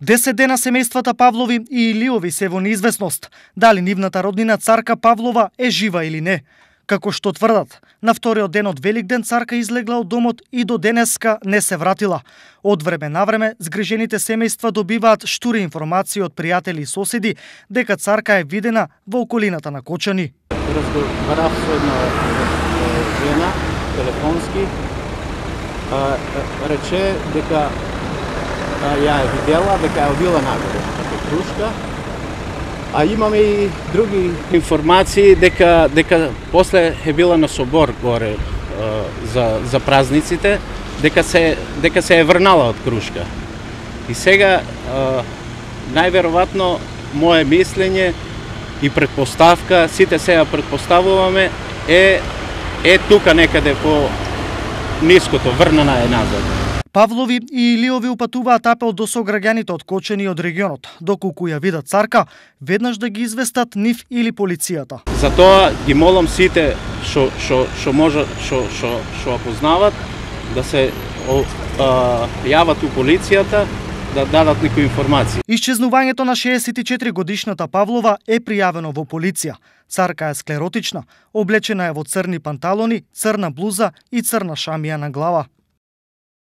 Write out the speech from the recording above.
10 дена семејствата Павлови и Илиови се во неизвестност дали нивната роднина царка Павлова е жива или не. Како што тврдат, на вториот ден од Великден царка излегла од домот и до денеска не се вратила. Од време на време згрижените семејства добиваат штури информации од пријатели и соседи дека царка е видена во околината на Кочани. Разговарав со една жена телефонски, рече дека ја е видела, дека е одила нагоре како крушка. А имаме и други информации дека после е била на собор горе за празниците, дека се е врнала од крушка. И сега најверојатно мое мислење и предпоставка, сите сега предпоставуваме, е тука некаде по ниското, врнана е назад. Павлови и Илиови упатуваат апел до сограѓаните од Кочани и од регионот, доколку ја видат царка, веднаш да ги известат нив или полицијата. Затоа ги молам сите што може што опознават да се јават у полицијата, да дадат некои информации. Исчезнувањето на 64 годишната Павлова е пријавено во полиција. Царка е склеротична, облечена е во црни панталони, црна блуза и црна шамија на глава.